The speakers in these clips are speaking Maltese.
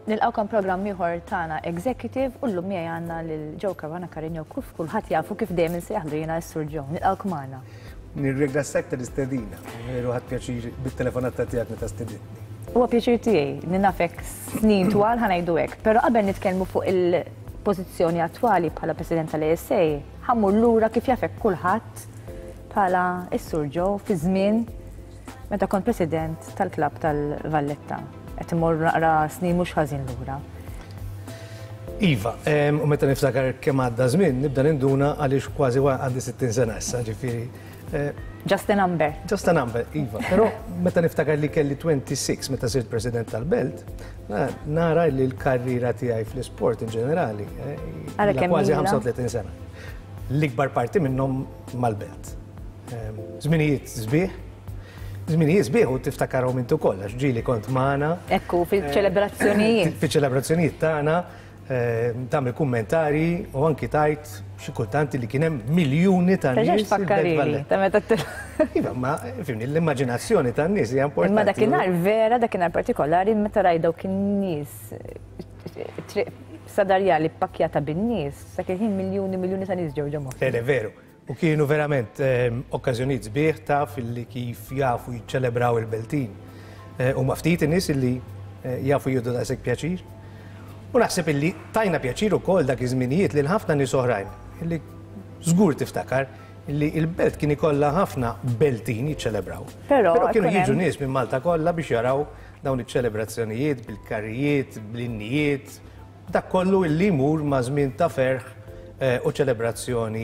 Nilqgħukom programm ieħor tagħna Executive u llum miegħi għandna lil Joe Caruana Carigno kif kulħadd jafu kif dejjem insejjaħlu jiena s-Sur Joe. Nilqgħuk magħna. Nirringrazzjak tal-istedina. Veru ħadt pjaċir bit-telefonata tiegħek meta stedintni. Huwa pjaċir tiegħi li nafek snin twal ħa ngħidu hekk, però qabel nitkellmu fuq il-pożizzjoni attwali bħala President tal-ASA, ħa mmur lura kif jafek kulħadd bħala s-Sur Joe fi żmien meta kont President tal-klabb tal-Valletta. Qed immorru naqra snin mhux ħażin lura. Iva, u meta niftakar kemm għadda żmien, nibda ninduna għaliex kważi għandi 60 sena issa, ġifieri. Eh, Just a number. Just a number, iva. Però meta niftakar li kelli 26 meta sirt president tal-belt, nara li l-karriera tiegħi fl-isport in ġenerali eh, kważi 35 sena. L-ikbar parti minnhom mal-belt. Żminijiet sbieħ, żminijiet sbieħ u tiftakarhom intu koll, għax ġieli kont magħna. Ekku, fil-ċelebrazzjonijiet. Fil-ċelebrazzjonijiet tagħna, tagħmel kummentari u anki tajt xi kultant li kien hemm miljuni ta' nies. Fakkarili, ta' meta Iva, ma fimni, l-immaġinazzjoni tan-nies hija importanti. Imma dakinhar vera, dakinhar partikolari, meta rajt dawk in-nies triq sadarjali ppakjata bin-nies, dak il-ħin miljuni miljuni ta' nies ġew ġo moħħi. Le, veru. U kienu verament okkażjonijiet sbieħ taf illi kif jafu jiċċelebraw il-Beltin. Huma ftit in-nies illi jafu jieħdu daqshekk pjaċir. U naħseb illi tajna pjaċir ukoll dak iż-żminijiet lil ħafna nies oħrajn illi żgur tiftakar illi il-belt kien ikollha ħafna Beltin jiċċelebraw. Però kienu jiġu nies minn Malta kollha biex jaraw dawn iċ-ċelebrazzjonijiet bil-karrijiet, bl-innijiet, Dak kollu illi jmur ma' żmien ta' ferħ u ċelebrazzjoni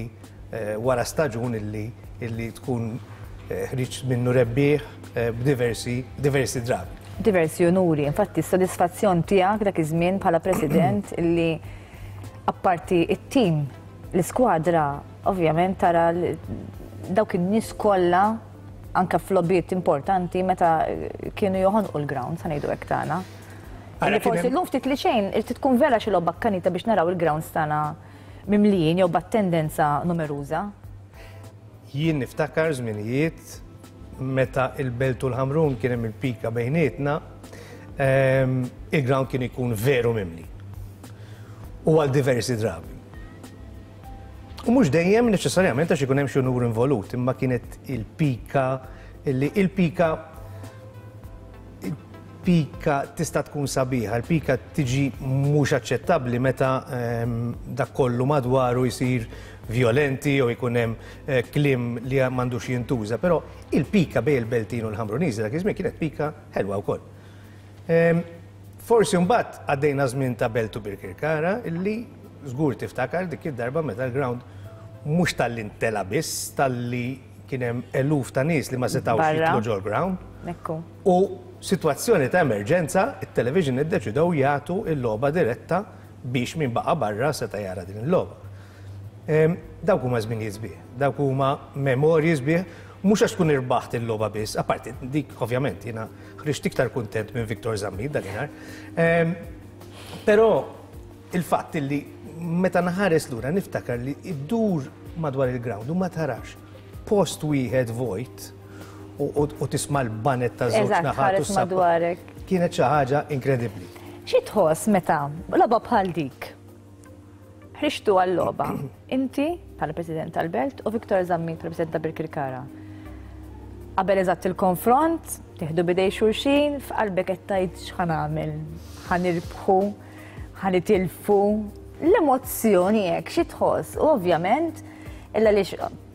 wara staġun illi illi tkun ħriġt minnu rebbieħ b'diversi diversi drabi. Diversi unuri. Infatti s-sodisfazzjon tiegħek dak iż-żmien bħala President illi apparti it-tim, l-iskwadra, ovvjament tara dawk in-nies kollha anke f'logħbiet importanti meta kienu joħonqu l-grounds, ħa ngħidu hekk tagħna. Li forsi llum ftit li xejn, irid tkun vera xi logħba akkanita biex naraw il-grounds tagħna mimlijin jew b'attendenza numeruża. Jien niftakar żminijiet meta il-Belt u l-Ħamrun kien hemm il-pika bejnietna, il-ground kien ikun veru mimli. U għal diversi drabi. U mhux dejjem neċessarjament għax ikun hemm xi unur involut, imma kienet il-pika illi il-pika il-pika tista' tkun sabiħa, il-pika tiġi mhux aċċettabbli meta dak kollu madwaru jsir vjolenti jew ikun hemm kliem li m'għandux jintuża, però il-pika bejn il-Beltin u l-Ħamruniżi dak iż-żmien kienet pika ħelwa wkoll. Forsi mbagħad għaddejna żmien ta' Belt u Birkirkara illi żgur tiftakar dik id-darba meta l-ground mhux talli ntela biss, talli kien hemm eluf ta' nies li ma setgħux jidħlu ġol-ground. U sitwazzjoni ta' emerġenza, it-television iddeċidew jagħtu l-logħba diretta biex min baqa' barra seta' jara din il-logħba. Dawk huma żminijiet sbieħ, dawk huma memorji sbieħ, mhux għax tkun irbaħt il-logħba biss, apparti dik ovvjament jiena ħriġt iktar kuntent minn Victor Zammit dakinhar. Però il-fatt li meta nħares lura niftakar li iddur madwar il-ground u ma tarax post wieħed vojt u tisma' l-banet ta' żewġ naħat u madwarek. Kienet xi ħaġa inkredibbli. Xi tħoss meta logħba bħal dik? Ħriġtu għal-logħba. Inti bħala President tal-Belt u Victor Zammit bħala President ta' Birkirkara. Qabel eżatt il-konfront, tieħdu bidej xulxin, f'qalbek qed tgħid x'ħa nagħmel, ħa nirbħu, ħa nitilfu. L-emozzjoni hekk xi tħoss u ovvjament illa li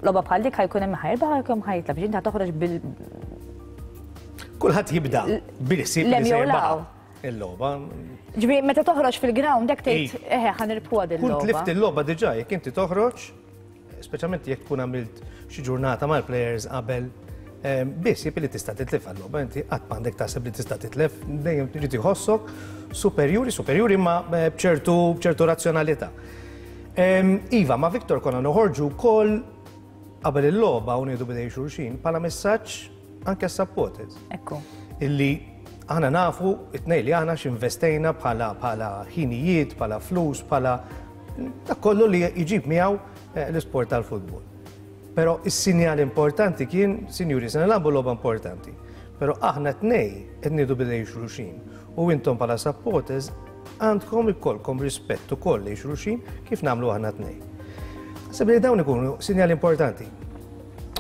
logħba bħal dik ħajkun hemm ħajrbaħ ħajkun ħajtlab, ġinta toħroġ bil Kulħadd jibda bil-ħsieb li se jirbaħ. Il-logħba. Ġifieri meta toħroġ fil-ground hekk tgħid eħe ħa nirbħuha din il-logħba. Kull tlift il-logħba diġà jekk inti toħroġ, speċjalment jekk tkun għamilt xi ġurnata mal-players qabel, biss jib li tista' titlef għal-logħba, inti qatt m'għandek taħseb li tista' titlef, dejjem trid iħossok superjuri, superjuri ma eh, b'ċertu b'ċertu razzjonalità. Iva, ma' Victor konna noħorġu wkoll qabel il-logħba u ngħidu bidej xulxin bħala messaġġ anke s-supporters. Ekku. Illi aħna nafu it-tnej li aħna x'investejna bħala bħala ħinijiet, bħala flus, bħala dak kollu li jġib miegħu eh, l-isport tal-futbol. Però is-sinjal importanti kien, sinjuri, se nilagħbu logħba importanti. Però aħna tnej qed nieħdu bidej xulxin u intom bħala supporters Għandkom ikollkom rispett ukoll lejn xulxin kif nagħmlu aħna tnejn. Naħseb li dawn ikunu sinjali importanti.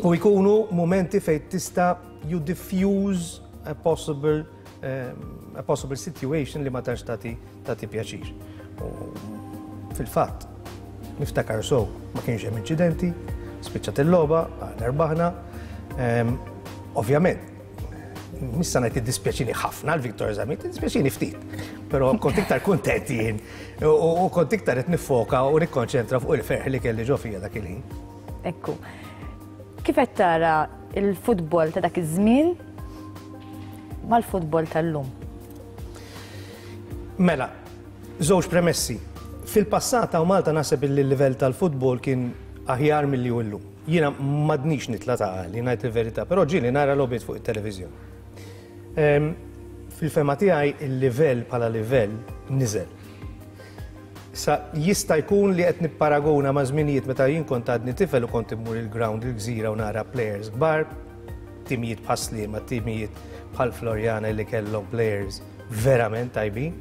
U jkunu momenti fejn tista' you diffuse a possible um, a possible situation li ma tantx tagħti tagħti pjaċir. Fil-fatt, niftakar so, ma kienx hemm inċidenti, spiċċat il-logħba, aħna rbaħna. Ehm, ovvjament, missa ngħid iddispjaċini ħafna l-Victor Zamit, iddispjaċini ftit. Però kont iktar kuntent jien u kont iktar qed nifoka u nikkonċentra fuq il-ferħ li kelli ġo fija dak il-ħin. Ekku. Kif qed tara il-futbol ta' dak iż-żmien mal-futbol tal-lum? Mela, żewġ premessi. Fil-passat hawn Malta naħseb illi l-livell tal-futbol kien aħjar milli hu llum. Jiena m'għadnix nitla' ta' għali, ngħid il-verità, però ġieli nara logħbiet fuq it-televiżjoni. Ehm, fil-fehma tiegħi il-livell bħala livell niżel. Sa jista' jkun li qed nipparagona ma' żminijiet meta jien kont għadni tifel u kont immur il-ground il-gżira u nara players kbar, timijiet bħal Sliema, timijiet bħal Floriana li kellhom players verament tajbin.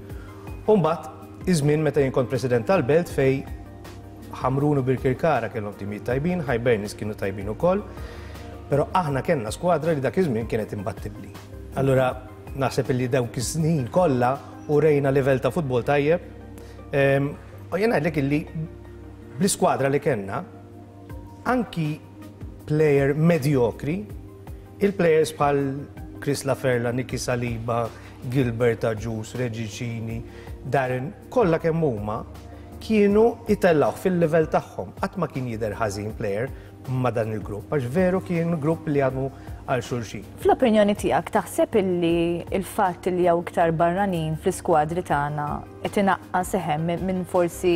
U mbagħad iż-żmien meta jien kont president tal-belt fej Ħamrun u Birkirkara kellhom timijiet tajbin, Hibernians kienu tajbin ukoll, però aħna kellna skwadra li dak iż-żmien kienet imbattibbli. Allura naħseb li dawk is-snin kollha urejna livell ta' futbol tajjeb. Ehm, u jien ngħidlek illi bl-iskwadra li kellna, anki player medjokri, il-players bħal Chris Laferla, Niki Saliba, Gilbert Agius, Reggie Cini, Darren, kollha kemm huma kienu jtellgħuh fil-livell tagħhom. Qatt ma kien jidher ħażin player ma' dan il-grupp, għax veru kien grupp li jaħdmu għal xulxin. Fl-opinjoni tiegħek taħseb illi l-fatt li hawn iktar barranin fl-iskwadri tagħna qed inaqqas eħe minn forsi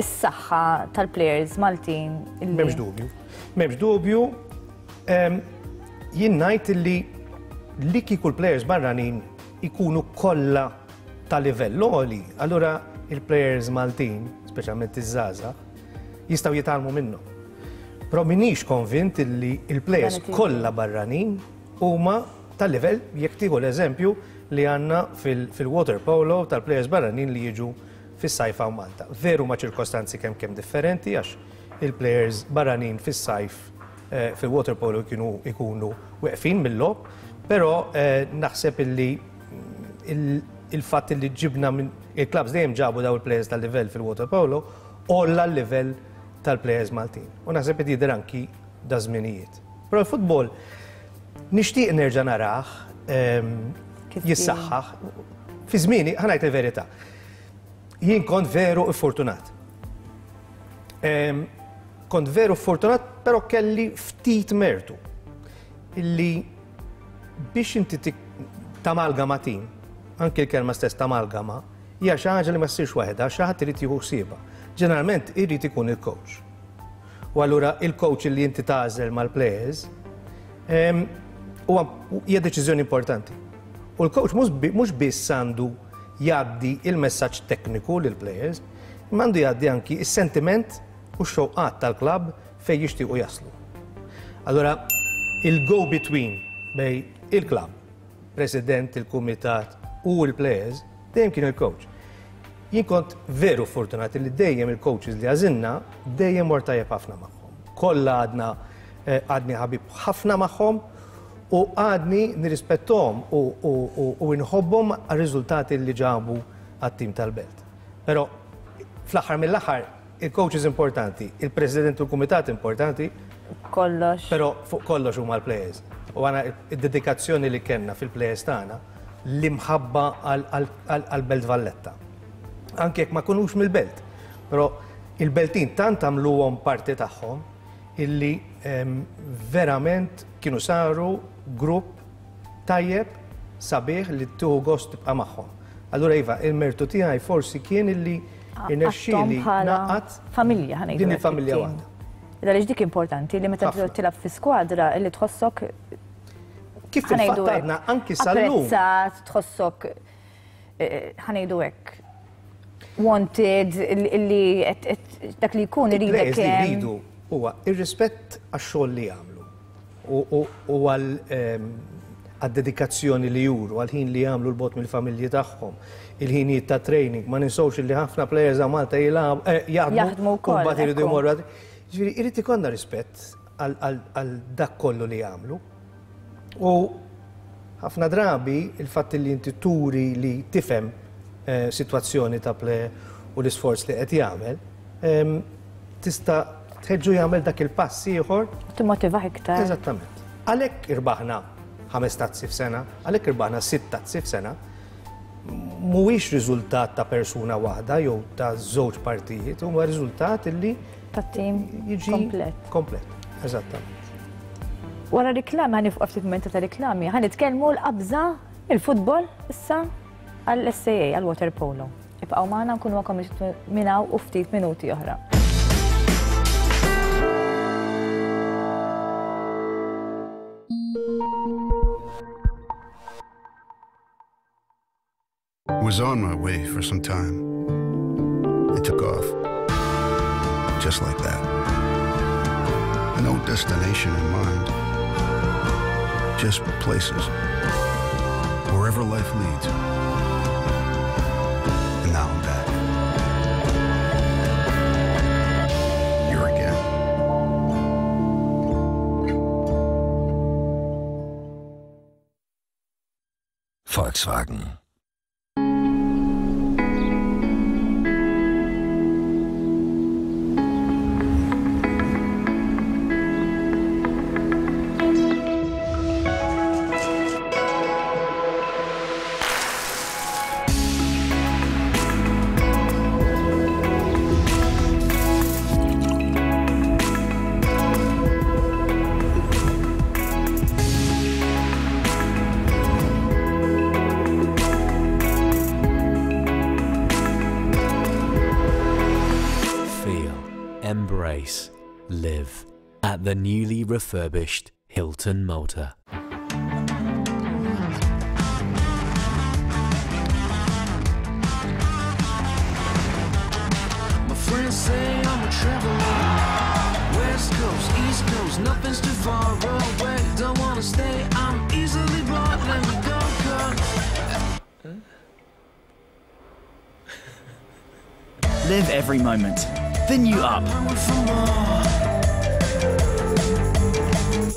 s-saħħa tal-players Maltin? M'hemmx dubju. M'hemmx dubju. Jien ngħid illi li kieku l-players barranin ikunu kollha ta' livell għoli, allura il-players Maltin, speċjalment iż-żgħażagħ, jistgħu jitgħallmu minnhom. Però minix konvint illi il-players kollha barranin huma ta' livell jekk tieħu l-eżempju li għandna fil-water polo tal-players barranin li jiġu fis-sajf hawn Malta. Veru ma' ċirkostanzi kemm kemm differenti għax il-players barranin fis-sajf eh, fil-water polo kienu ikunu weqfin mill-logħob, però eh, naħseb illi il-fatt li ġibna minn il-klabs dejjem ġabu daw il-players tal-livell fil-water polo, għolla l-livell tal-players Maltin. U naħseb qed jidher anki da żminijiet. Però l-futbol nixtieq nerġa' narah ehm, jissaħħaħ. Fi żmieni, ħanajt il-verità. Jien kont veru fortunat. Ehm, kont veru fortunat, però kelli ftit mertu illi Biex inti tamalgama tim, anki l-kelma stess tamalgama, hija xi ħaġa li ma ssirx waħedha, xi ħadd irid jieħu ħsiebha. Ġeneralment irid ikun il-coach. U allura il-coach li inti tagħżel mal-players ehm, huwa hija deċiżjoni importanti. U l-coach mhux biss għandu jgħaddi il-messaġġ tekniku lill-players, imma għandu jgħaddi anki is-sentiment u x-xewqat tal-klabb fejn jixtiequ jaslu. Allura, il-go between bejn il-klabb, president, il-kumitat u l-players dejjem kien il-coach. Jien kont veru fortunat li dejjem il-coaches li għażilna dejjem mort tajjeb ħafna magħhom. Kollha għadna eh, għadni ħabib ħafna magħhom u għadni nirrispettom u nħobbhom għar-riżultati li ġabu għat-tim tal-belt. Però fl-aħħar mill-aħħar Il-coaches importanti, il-president u l-kumitat importanti. Kollox. Però fuq kollox huma l-players. U għana id-dedikazzjoni li kellna fil-players tagħna l-imħabba għal-Belt Valletta. Anke jekk ma kunux mill-belt. Però il-Beltin tant għamluhom parti tagħhom illi ehm, verament kienu saru grupp tajjeb, sabiħ li tieħu gost tibqa' magħhom. Allura iva, il-mertu tiegħi forsi kien illi irnexxieli naqgħad familja ħa ngħidu. Din il-familja waħda. Għaliex dik importanti li meta tilab fi skwadra li tħossok Kif fil-fatt għadna anki sal-lum. Apprezzat, tħossok eh, ħa ngħidu hekk wanted li dak li jkun iridek. Li jridu huwa ir-rispett għax-xogħol li jagħmlu u ehm, għad-dedikazzjoni li juru, għall-ħin li jagħmlu 'l bogħod mill-familji tagħhom, il-ħinijiet ta' training, ma ninsewx li ħafna players hawn Malta jilagħbu, eh, jaħdmu u mbagħad iridu jmorru. Ġifieri irid ikollna rispett għal dak kollu li jagħmlu. U ħafna drabi il-fatt li inti turi li tifhem eh, sitwazzjoni ta' player u l-isforz li qed jagħmel, ehm, tista' tħeġġu jagħmel dak il-pass ieħor. Timmotivah iktar. Eżattament. Għalhekk irbaħna ħames tazzi f'sena, għalhekk irbaħna sitt tazzi f'sena, mhuwiex riżultat ta' persuna waħda jew ta' żewġ partijiet, huwa riżultat illi ta' tim jiġi komplet. Komplet, eżattament. Wara riklami ħa nifqgħu ftit mumenti ta' riklami, ħa nitkellmu l-qabża il-futbol issa għall-SAA, għall-water polo. Ibqgħu magħna nkunu magħkom minn hawn u ftit minuti oħra. Was on my way for some time. I took off. Just like that. No destination in mind. Just places. Wherever life leads. And now I'm back. Here again. Volkswagen. Feel, embrace, live at the newly refurbished Hilton Malta. My friends say I'm a traveler. West Coast, East Coast, nothing's too far away. Don't wanna stay, I'm easily bored. Let me go, girl. Live every moment. The new up.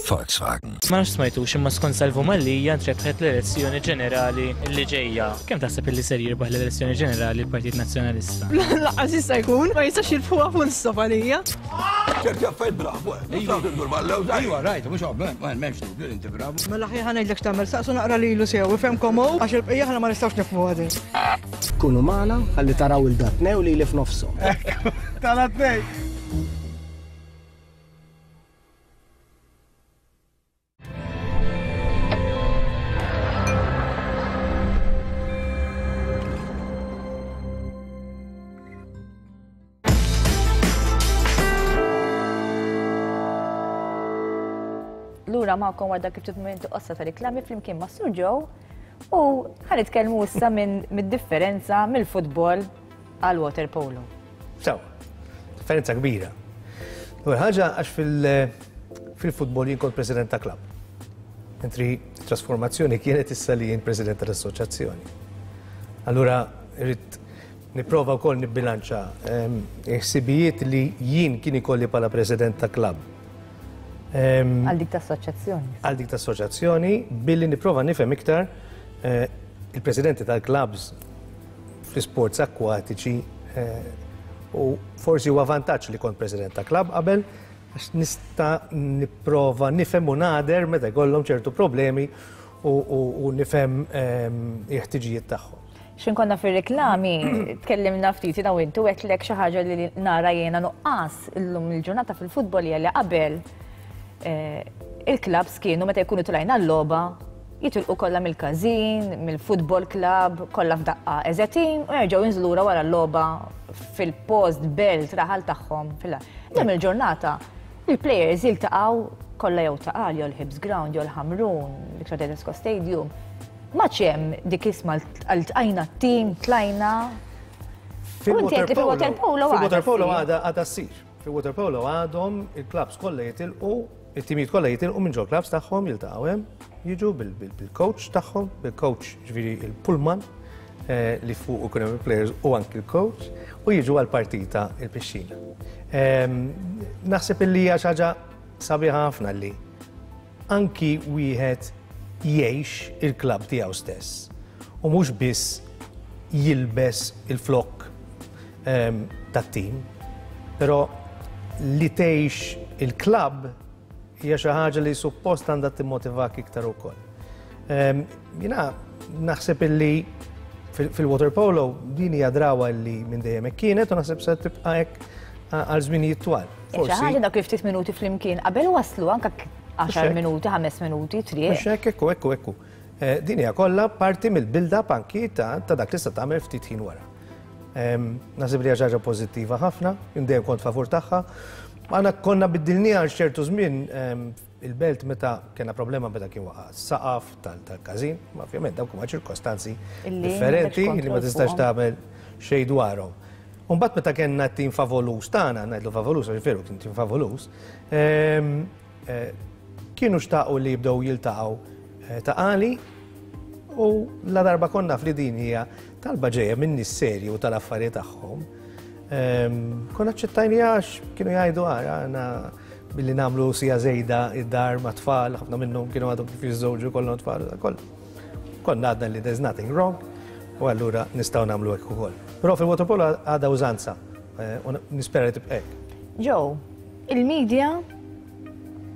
Volkswagen. Ma nafx smajtux imma skont Salvu Mallia ntrebħet l-elezzjoni ġenerali li ġejja. Kemm taħseb illi ser jirbaħ l-elezzjoni ġenerali l-Partit Nazzjonalista? Lanqas jista' jkun, ma jistax jirbħuha full stop għalija. ċerti affarijiet bravu, eh. Iva, rajt, mhux m'hemmx dubju li inti bravu. Mela ħi ħa ngħidlek x'tagħmel, saqsu naqra lilu sew, ifhemkom hu, għax il-bqija aħna ma nistgħux nifhmuha din. Kunu magħna ħalli taraw il-datnew lili f'nofshom. Tal-atnej! Lura magħkom wara dak il-ftit mumenti qossa ta' riklami flimkien ma' Sur Joe u ħa nitkellmu issa minn mid-differenza mill-futbol għal water polo. Sew, differenza kbira. L-ewwel ħaġa għax fil-futbol jien kont president ta' klabb. Mentri trasformazzjoni kienet issa li jien president tal-assoċjazzjoni. Allura rrid nipprova wkoll nibbilanċa ehm, ħsibijiet li jien kien ikolli bħala president ta' klabb. Ehm, għal dik ta' assoċjazzjoni. Għal dik ta' assoċjazzjoni billi nipprova nifhem iktar eh, il-presidenti tal-klabbs fl-isports akkwatiċi eh, u forsi huwa vantaġġ li kont president ta' klabb qabel għax nista' nipprova nifhem u nader meta jkollhom ċertu problemi u nifhem ehm, il-ħtiġijiet tagħhom. Xin konna fir-reklami, tkellimna ftit jiena u inti u għedtlek xi ħaġa li nara jiena nuqqas illum il-ġurnata fil-futbol hija li qabel eh, il-klabs kienu meta jkunu tilgħin għal-logħba jitilqu kollha mill-każin, mill-football club, kollha f'daqqa as a team u jerġgħu jinżlu lura wara l-logħba fil-post, belt, raħal tagħhom. Illum il-ġurnata il-players jiltaqgħu kollha jew Ta' Qali jew l-Hibs Ground jew l-Ħamrun, Victor Tedesco Stadium. M'għadx hemm dik isma' ltqajna t-tim, tlajna. Fil-water polo għadha għadha ssir. Fil-water polo għadhom il-clubs kollha jitilqu. It-timijiet kollha jitilqu minn ġol-klabbs tagħhom, jiltaqgħu hemm, jiġu bil-coach tagħhom, bil-coach ġifieri il-pullman eh, li fuq ikun hemm il-players u anki l-coach, u jiġu għall-partita il-pixxina. Ehm, naħseb illi hija xi ħaġa sabiħa ħafna li anki wieħed jgħix il-klabb tiegħu stess u mhux biss jilbes il-flokk ehm, tat-tim, però li tgħix il-klabb hija xi ħaġa li suppost għandha timmotivak iktar ukoll. Ehm, jiena naħseb illi fil-water polo din hija drawa li minn dejjem hekk kienet u naħseb se tibqa' hekk għal żminijiet twal. Forsi. Xi ħaġa dak ftit minuti flimkien qabel waslu anke 10 minuti, 5 minuti, triq. Mhux hekk, ekku, ekku, ekku. Eh, din hija kollha parti mill-build-up anki ta' dak li se tagħmel ftit ħin wara. Naħseb li hija ħaġa pożittiva ħafna, dejjem kont favur tagħha. Aħna konna biddilniha għal ċertu żmien il-belt meta kena problema meta kien waqa' saqaf tal-każin, ma ovvjament dawk huma ċirkostanzi differenti li ma tistax tagħmel xejn dwarhom. Umbagħad meta kellna tim favolus tagħna, ngħidlu favolus għax veru kien tim favolus, eh, kienu xtaqu li jibdew jiltaqgħu eh, ta' qali u la darba konna fli din hija talba ġejja minn nies serji u tal-affarijiet tagħhom. Ehm, konna ċettajni għax kienu jgħidu għara għana billi namlu sija zejda id-dar ma' tfal, ħafna minnhom kienu għadhom kif jiżżewġu kollhom tfal, koll. Konna għadna li there's nothing wrong u allura nistgħu nagħmlu hekk ukoll. Però fil-waterpolo għadha użanza eh, u nispera li tibqa' hekk. Joe, il-media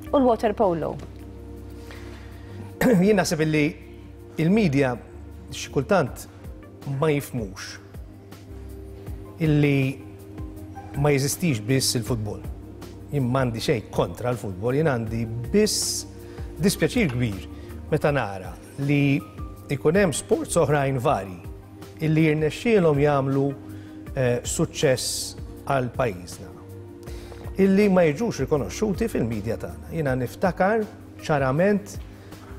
u l-water polo. Jien naħseb illi il-media xi kultant ma jifmux illi ma jeżistix biss il-futbol. Jien m'għandi xejn kontra l-futbol, jien għandi biss dispjaċir kbir meta nara li ikun hemm sports oħrajn varji illi jirnexxielhom jagħmlu eh, suċċess għal pajjiżna illi ma jiġux rikonoxxuti fil-medja tagħna. Jiena niftakar ċarament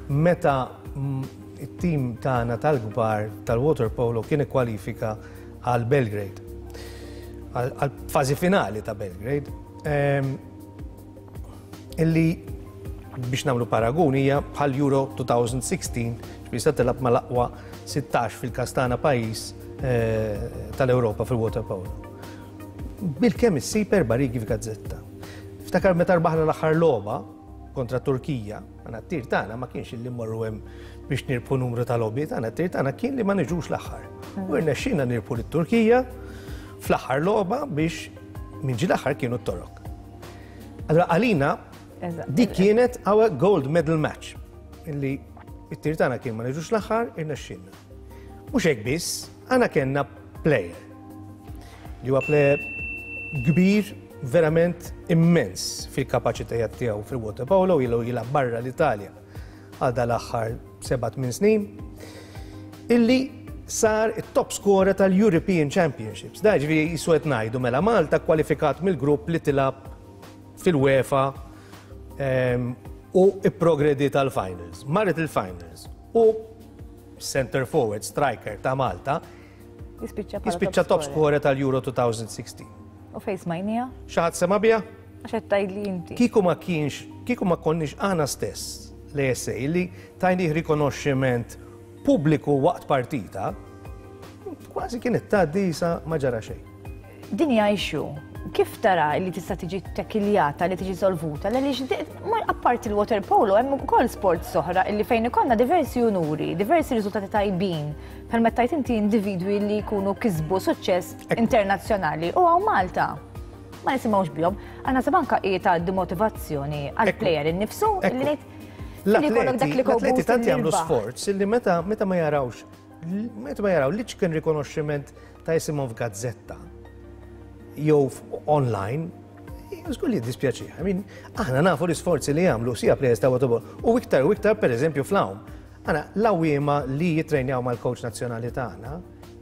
meta it-tim tagħna tal-kbar tal-water polo kien ikkwalifika għal Belgrade. Għal fażi finali ta' Belgrade. Ehm, illi biex nagħmlu paragun hija bħal Euro 2016 biex se tilgħab mal-aqwa 16 fil-każ tagħna pajjiż eh, tal-Ewropa fil-water polo. Bilkemm issib erba' rigi f'gazzetta. Ftakar meta rbaħna l-aħħar logħba kontra Turkija, għana t-tir tagħna ma kienx li mmorru hemm biex nirbħu numru ta' logħbiet, għana t-tir tagħna kien li ma niġux l-aħħar. U rnexxina nirbħu lit-Turkija fl-aħħar logħba biex min ġie l-aħħar kienu t-Torok. Allora għalina dik kienet our gold medal match illi it-tir tagħna kien ma niġux l-aħħar irnexxilna. Mhux hekk biss, għana kellna player li huwa player kbir verament immens fil-kapaċitajiet tiegħu fil-water polo ilu jilgħab barra l-Italja għal dal-aħħar 7-8 snin illi sar it-top scorer tal-European Championships. Da ġifieri jisu qed ngħidu mela Malta kwalifikat mill-grupp li tilab fil-UEFA ehm, u ipprogredi tal-finals. Marret il-finals u center forward striker ta' Malta jispiċċa top scorer tal-Euro 2016. U fejn smajnija? Xi ħadd sema' biha? Għax qed tgħidli inti. Kieku ma kienx, kieku ma konniex aħna stess l-ESA li tajnih rikonoxximent pubbliku waqt partita, kważi kienet tgħaddi isa ma ġara xejn. Din hija issue. Kif tara li tista' tiġi tekiljata, li tiġi solvuta, għaliex apparti l-water polo hemm ukoll sports oħra illi fejn ikollna diversi unuri, diversi riżultati tajbin. Bħalma tajt inti individwi li jkunu kisbu suċċess internazzjonali u hawn Malta ma nisimgħux bihom. Għandna seb anka hi ta' demotivazzjoni għall-plejer innifsu li ngħid L-atleti tant jagħmlu sforz li meta meta ma jarawx meta ma jaraw li ċken rikonoxximent ta' jisimhom f'gazzetta jew online, żgur li jiddispjaċih. I mean, aħna nafu l-isforzi li jagħmlu sija players ta' waterpolo u iktar u iktar pereżempju fl-għawm. Aħna l-għawwiema li jittrejnjaw mal-coach nazzjonali tagħna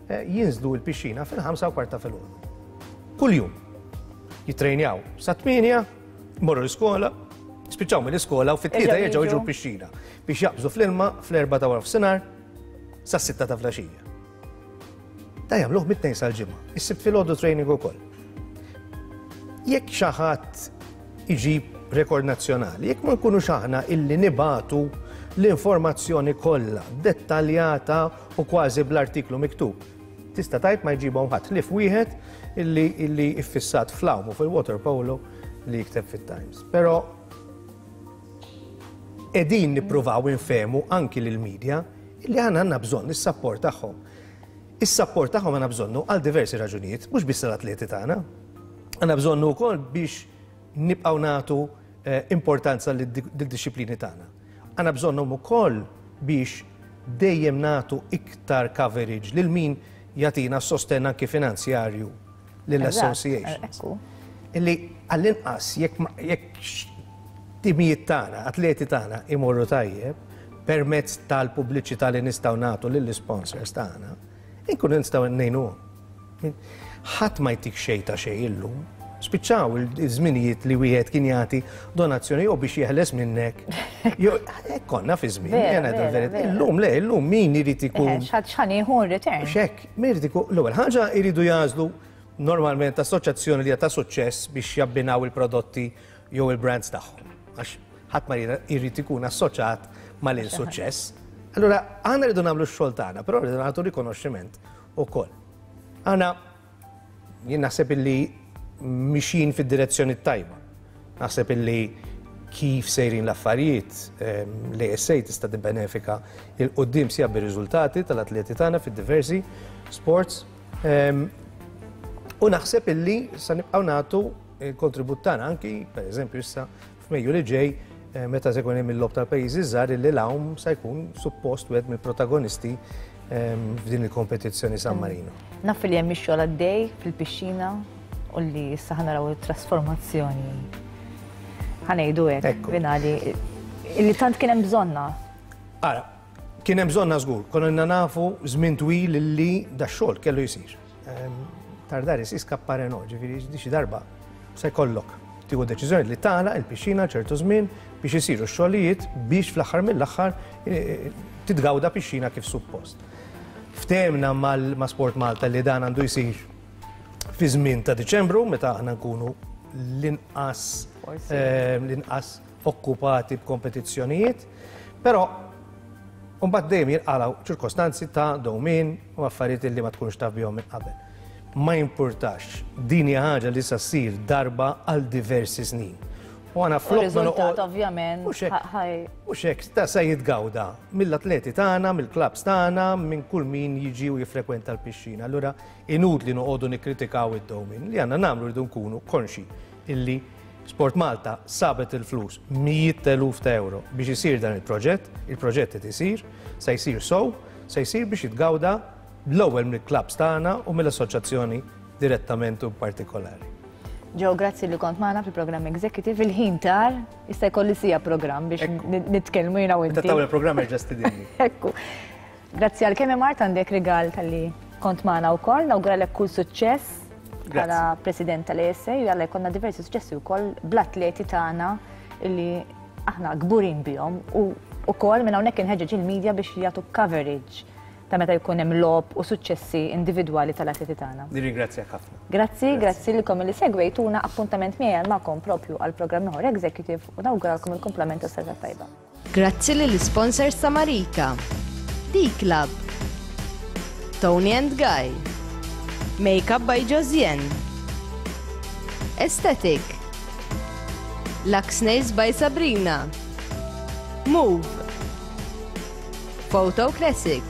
eh, jinżlu l-pixxina fil-5 u kwarta filgħodu. Kuljum. Jittrejnjaw sa 8, morru l-iskola, spiċċaw mill-iskola u fit-tlieta jerġgħu jiġu l-pixxina biex jaqbżu fl-ilma fl-erba' ta' wara f'sinar sa' sitta ta' flaxija. Da jagħmluh mit-tnejn sal-ġimgħa. Is-sibt filgħodu training ukoll. Jekk xi ħadd iġib rekord nazzjonali, jekk ma nkunux aħna illi nibagħtu l-informazzjoni kollha dettaljata u kważi bl-artiklu miktub, tista' tgħid ma jġibhom ħadd ħlief wieħed illi illi iffissat fl-għawm u fil-water polo li jikteb fit-Times. Però qegħdin nippruvaw infehmu anki lill-media illi aħna għandna bżonn is-sapport tagħhom. Is-sapport tagħhom għandna bżonnu għal diversi raġunijiet, mhux biss l-atleti tagħna. Għandna bżonnu wkoll biex nibqgħu nagħtu eh, importanza lid-dixxiplini tagħna. Għandna bżonnhom ukoll biex dejjem nagħtu iktar coverage lil min jagħtina sostenn anki finanzjarju lill-associations. Illi għall-inqas jekk timijiet tagħna, atleti tagħna imorru tajjeb permezz tal-pubbliċità li nistgħu nagħtu lill-isponsors tagħna, inkunu nistgħu ngħinuhom. Ħadd ma jtik xejn ta' xejn illum. Spiċċaw iż-żminijiet li wieħed kien jagħti donazzjoni jew biex jeħles minnek. Jew hekk konna fi żmien, jena verità. Illum le, illum min irid ikun. X'ħadd x'ħan jieħu return. X'hekk, min irid ikun. L-ewwel ħaġa jridu jagħżlu normalment assoċjazzjoni li ta' suċċess biex jabbinaw il-prodotti jew il-brands tagħhom. Għax ħadd ma jrid ikun assoċjat mal-insuċċess. Allura, aħna rridu nagħmlu x-xogħol tagħna, però rridu nagħtu rikonoxximent ukoll. Aħna jien naħseb illi mixjin fid-direzzjoni tajba. Naħseb illi kif sejrin l-affarijiet ehm, l-ASA tista' tibbenefika il qudiem sija bir-riżultati tal-atleti tagħna fid-diversi sports. Ehm, u naħseb illi sa nibqgħu nagħtu il-kontribut tagħna anki, pereżempju issa F'Mejju li ġej, meta se jkun hemm il-logħob tal-pajjiżi ż-żgħar illi l-għawm se jkun suppost wieħed mill-protagonisti f'din il-kompetizzjoni San Marino. Naf li hemm ix-xogħol għaddej fil-pixxina u li issa ħa naraw it-trasformazzjoni. Ħa ngħidu hekk finali illi tant kien hemm bżonna. Ara, kien hemm bżonna żgur, konna nafu żmien twil illi dax-xogħol kellu jsir. Tardare si scappare no, ġifieri xi darba se jkollok tieħu deċiżjoni li tagħlaq il-pixxina ċertu żmien biex isiru x-xogħlijiet biex fl-aħħar mill-aħħar eh, titgawda pixxina kif suppost. Ftehmna ma' Sport Malta li dan għandu jsir fi żmien ta' Diċembru meta aħna nkunu l-inqas eh, l-inqas okkupati b'kompetizzjonijiet, però mbagħad dejjem jinqalgħu ċirkostanzi ta' dewmien u affarijiet li ma tkunx taf bihom minn qabel. Ma jimpurtax, din hija ħaġa li sa ssir darba għal diversi snin. U għana flok ma ovvjament. Mhux hekk, ta' se jitgawda mill-atleti tagħna, mill-klabbs tagħna, minn kull min jiġi u jiffrekwenta l-pixxina. Allura inutli noqogħdu nikkritikaw id-dewmien. Li għandna nagħmlu rridu nkunu konxi illi Sport Malta sabet il-flus, mijiet ta' eluf ta' euro biex isir dan il-proġett, il-proġett qed isir, se jsir sew, se jsir biex jitgawda l-ewwel mill-klabbs tagħna u mill-assoċjazzjoni direttament u partikolari. Joe, grazzi li kont magħna fil-programm Executive. Il-ħin tar, issa jkolli sija programm biex nitkellmu jiena u inti. Meta tagħmel programm erġa' stidinni. Ekku. Grazzi għal kemm Mart għandek rigal talli kont magħna wkoll, nawguralek kull suċċess bħala President tal-ESA u jalla jkollna diversi suċċessi wkoll bl-atleti tagħna li aħna kburin bihom u wkoll minn hawnhekk inħeġġeġ il-media biex jagħtu coverage ta' meta jkun hemm logħob u suċċessi individwali tal-atleti tagħna. Nirringrazzjak ħafna. Grazzi, grazzi lilkom li segwejtuna appuntament miegħi magħkom propju għal programm ieħor Executive u nawguralkom il-kumplament tas-serata tajba. Grazzi lill-isponsors ta' Marika, D-Club, Tony and Guy, Makeup by Josiane, Aesthetic, Lux Nails by Sabrina, Move, Photo Classic,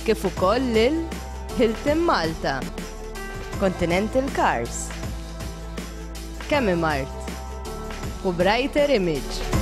kif ukoll lil Hilton Malta, Continental Cars, Kemimart u Brighter Image.